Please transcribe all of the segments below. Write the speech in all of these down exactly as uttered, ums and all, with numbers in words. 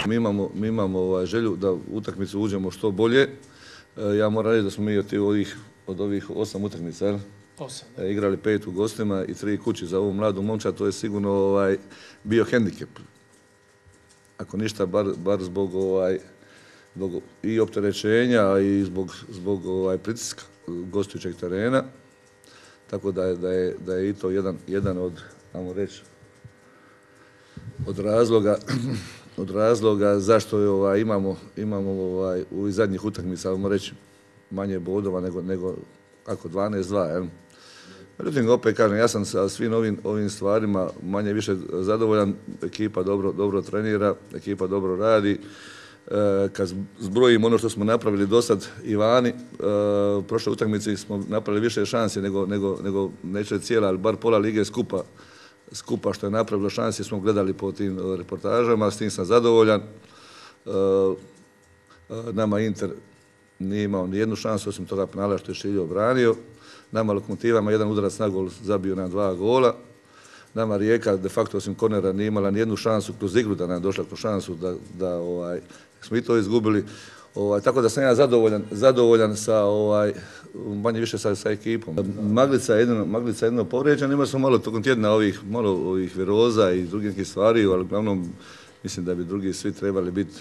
Mi imamo, mi imamo ovaj, želju da u utakmicu uđemo što bolje. E, ja moram reći da smo mi od ovih, od ovih osam utakmica Osam, e, igrali pet u gostima i tri kući za ovu mladu momčad, to je sigurno ovaj, bio hendikep. Ako ništa, bar, bar zbog, ovaj, zbog i opterećenja i zbog, zbog ovaj, pritiska gostujućeg terena. Tako da je, da je, da je i to jedan, jedan od, ajmo reći, od razloga od razloga zašto je, ovaj, imamo, imamo ovaj, u zadnjih utakmica, ajmo reći, manje bodova nego, nego kako dvanaest dva. Jel? Međutim, opet kažem, ja sam sa svim ovim, ovim stvarima manje više zadovoljan. Ekipa dobro, dobro trenira, ekipa dobro radi. E, kad zbrojimo ono što smo napravili do sad i vani, e, u prošloj utakmici smo napravili više šansi nego, nego, nego neće cijela, ali bar pola lige skupa, skupa što je napravilo šansi smo gledali po tim reportažama, s tim sam zadovoljan. E, nama Inter nije imao ni jednu šansu, osim toga penala što je Šiljo obranio. Nama Lokomotivama jedan udarac na gol zabio nam dva gola. Nama Rijeka de facto osim kornera nije imala ni jednu šansu kroz igru da nam je došla kroz šansu da, da ovaj, smo i to izgubili. Ovaj, tako da sam ja zadovoljan, zadovoljan sa ovaj, manje više sa, sa ekipom. Maglica je jedino, Maglica je jedino povrijeđena, imali smo malo tokom tjedna ovih, malo ovih viroza i drugih nekih stvari, ali uglavnom mislim da bi drugi svi trebali biti,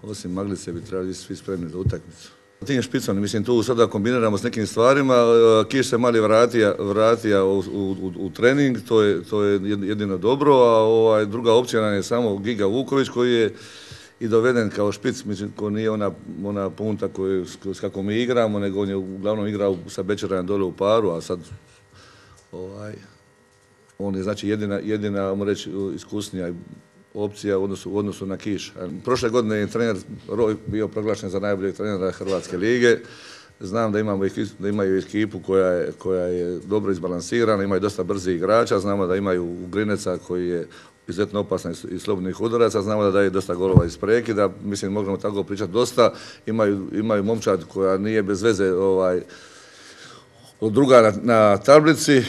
osim Maglice bi trebali svi spremni za utakmicu. Tim špicom, mislim, tu sada kombiniramo s nekim stvarima, Kiš se mali vratija, vratija u, u, u trening, to je, to je jedino dobro, a ovaj, druga opcija nam je samo Giga Vuković koji je i doveden kao špic, mislim, ko nije ona, ona punta koju, s kako mi igramo, nego on je uglavnom igrao sa Bečerajem dole u paru, a sad ovaj, on je znači jedina, jedina, ajmo reći, iskusnija opcija u odnosu, u odnosu na Kiš. Prošle godine je trener Roj bio proglašen za najboljeg trenera Hrvatske lige. Znam da, imamo, da imaju ekipu koja je, koja je dobro izbalansirana, imaju dosta brzih igrača, znamo da imaju Grineca koji je izuzetno opasan iz slobodnih udaraca, znamo da daje dosta golova iz prekida, mislim možemo tako pričati dosta. Imaju, imaju momčad koja nije bez veze ovaj, druga na, na tablici.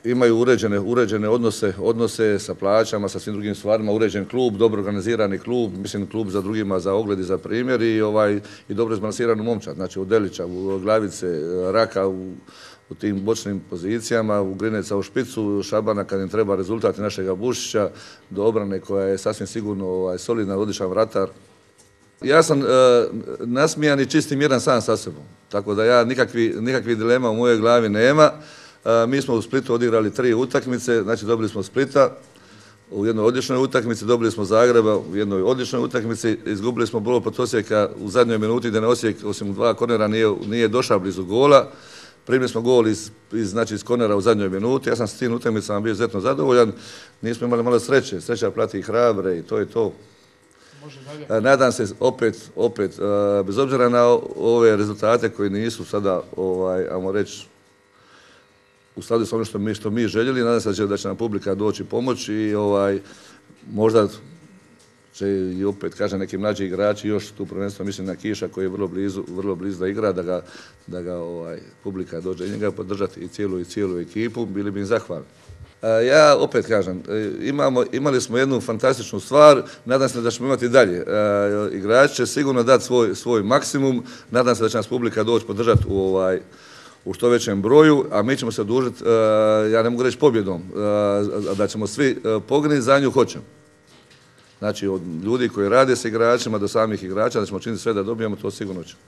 Imaju uređene, uređene odnose, odnose sa plaćama, sa svim drugim stvarima, uređen klub, dobro organizirani klub, mislim klub za drugima, za ogled i za primjer i, ovaj, i dobro izbalansiranu momčad, znači u Delića, u Glavice, Raka, u, u tim bočnim pozicijama, u Grineca u špicu, Šabana kad im treba rezultat našega Bušića, do obrane koja je sasvim sigurno ovaj, solidna, odličan vratar. Ja sam e, nasmijan i čist i miran sam sa sobom, tako da ja nikakvi, nikakvi dilema u mojoj glavi nema. Mi smo u Splitu odigrali tri utakmice, znači dobili smo Splita u jednoj odličnoj utakmici, dobili smo Zagreba u jednoj odličnoj utakmici, izgubili smo Brod protiv Osijeka u zadnjoj minuti gdje na Osijek osim dva kornera nije, nije došao blizu gola. Primili smo gol iz, iz, znači, iz kornera u zadnjoj minuti, ja sam s tim utakmicama bio izuzetno zadovoljan, nismo imali malo sreće, sreća plati hrabre i to je to. Nadam se opet, opet, bez obzira na ove rezultate koji nisu sada, ovaj, ajmo reći, u skladu s ono što mi, što mi željeli, nadam se da će, da će nam publika doći pomoći i ovaj, možda će i opet, kažem, neki mlađi igrači još tu prvenstveno mislim na Kiša koji je vrlo blizu, vrlo blizu da igra, da ga, da ga ovaj, publika dođe i njega podržati i cijelu i cijelu ekipu, bili bi im zahvalni. Ja opet kažem, imamo, imali smo jednu fantastičnu stvar, nadam se da ćemo imati dalje. Igrači će sigurno dati svoj, svoj maksimum, nadam se da će nas publika doći podržati u ovaj, u što većem broju, a mi ćemo se odužiti, ja ne mogu reći pobjedom, da ćemo svi poginuti za nju hoćemo. Znači od ljudi koji rade s igračima do samih igrača, da ćemo činiti sve da dobijemo, to sigurno ćemo.